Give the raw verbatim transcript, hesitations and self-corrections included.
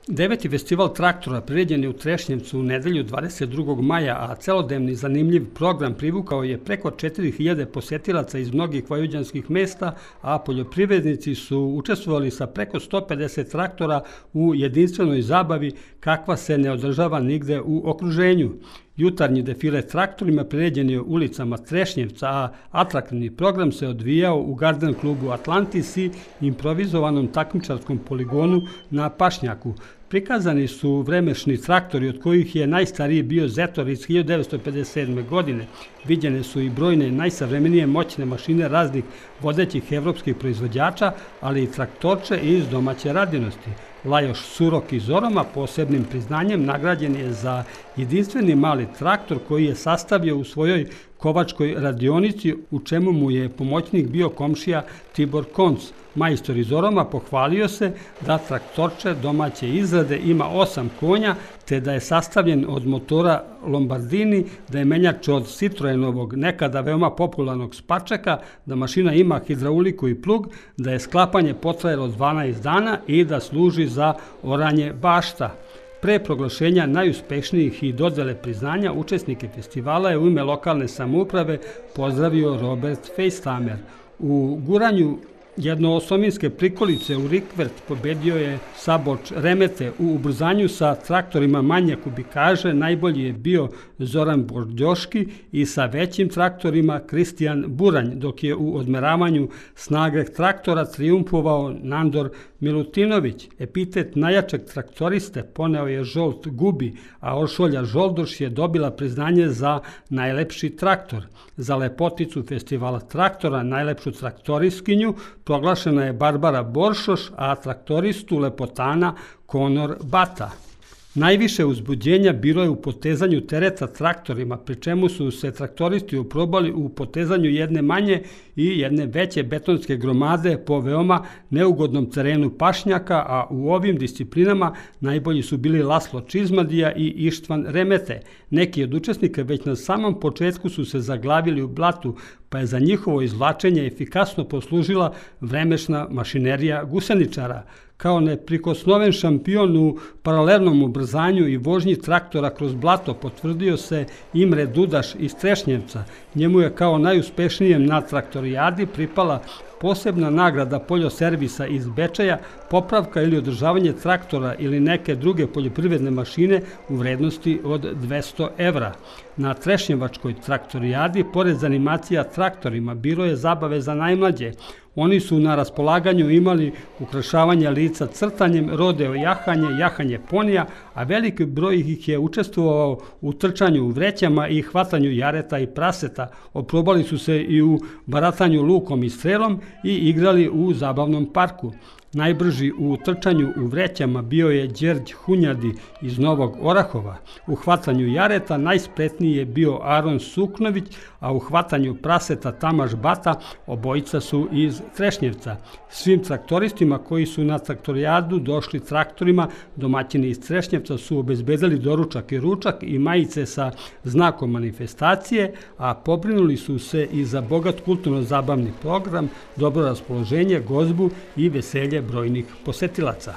Deveti festival traktora priređen je u Trešnjevcu u nedelju dvadeset drugog maja, a celodnevni zanimljiv program privukao je preko četiri hiljade posetilaca iz mnogih vojvođanskih mesta, a poljoprivrednici su učestvovali sa preko sto pedeset traktora u jedinstvenoj zabavi kakva se ne održava nigde u okruženju. Jutarnji defile traktorima priređen je ulicama Trešnjevca, a atraktivni program se odvijao u Garden klubu Atlantis i improvizovanom takmičarskom poligonu na Pašnjaku. Prikazani su vremešni traktori, od kojih je najstariji bio Zetor iz hiljadu devetsto pedeset sedme. godine. Viđene su i brojne najsavremenije moćne mašine raznih vodećih evropskih proizvođača, ali i traktorče iz domaće radinosti. Lajoš Surok iz Oroma posebnim priznanjem nagrađen je za jedinstveni mali traktor koji je sastavio u svojoj kovačkoj radionici, u čemu mu je pomoćnik bio komšija Tibor Konc. Majstor iz Oroma pohvalio se da traktorče domaće izrade ima osam konja, te da je sastavljen od motora Lombardini, da je menjač od Citroenovog nekada veoma popularnog Spačeka, da mašina ima hidrauliku i plug, da je sklapanje potrajalo dvanaest dana i da služi za oranje bašta. Pre proglašenja najuspešnijih i dodele priznanja, učesnike festivala je u ime lokalne samouprave pozdravio Robert Fejstamer. U guranju jednoosovinske prikolice u rikvert pobedio je Saboč Remete. U ubrzanju sa traktorima manje kubikaže najbolji je bio Zoran Bordjoški i sa većim traktorima Kristijan Buranj, dok je u odmeravanju snage traktora triumfovao Nandor Milutinović. Epitet najjačeg traktoriste poneo je Žolt Gubi, a Oršolja Žoldoš je dobila priznanje za najlepši traktor. Za lepoticu festivala traktora, najlepšu traktoriskinju, proglašena je Barbara Boršoš, a traktoristu lepotana Konor Bata. Najviše uzbuđenja bilo je u potezanju tereta traktorima, pri čemu su se traktoristi oprobali u potezanju jedne manje i jedne veće betonske gromade po veoma neugodnom terenu Pašnjaka, a u ovim disciplinama najbolji su bili Laslo Čizmadija i Ištvan Remete. Neki od učesnika već na samom početku su se zaglavili u blatu, pa je za njihovo izvlačenje efikasno poslužila vremešna mašinerija guseničara. Kao neprikosnoven šampion u paralelnom ubrzanju i vožnji traktora kroz blato potvrdio se Imre Dudaš iz Trešnjevca. Njemu je kao najuspešnijem na traktorijadi pripala posebna nagrada poljoservisa iz Bečeja, popravka ili održavanje traktora ili neke druge poljoprivredne mašine u vrednosti od dvesta evra. Na Trešnjevačkoj traktorijadi, pored zanimacija traktorima, bilo je zabave za najmlađe. Oni su na raspolaganju imali ukrašavanje lica crtanjem, rodeo jahanje, jahanje ponija, a veliki broj ih je učestvovao u trčanju u vrećama i hvatanju jareta i praseta. Oprobali su se i u baratanju lukom i strelom i igrali u zabavnom parku. Najbrži u trčanju u vrećama bio je Đerđ Hunjadi iz Novog Orahova. U hvatanju jareta najspretniji je bio Aron Suknović, a u hvatanju praseta Tamaš Bata, obojica su iz Trešnjevca. Svim traktoristima koji su na traktorijadu došli traktorima, domaćini iz Trešnjevca su obezbedili doručak i ručak i majice sa znakom manifestacije, a pobrinuli su se i za bogat kulturno-zabavni program, dobro raspoloženje, gozbu i veselje brojnih posetilaca.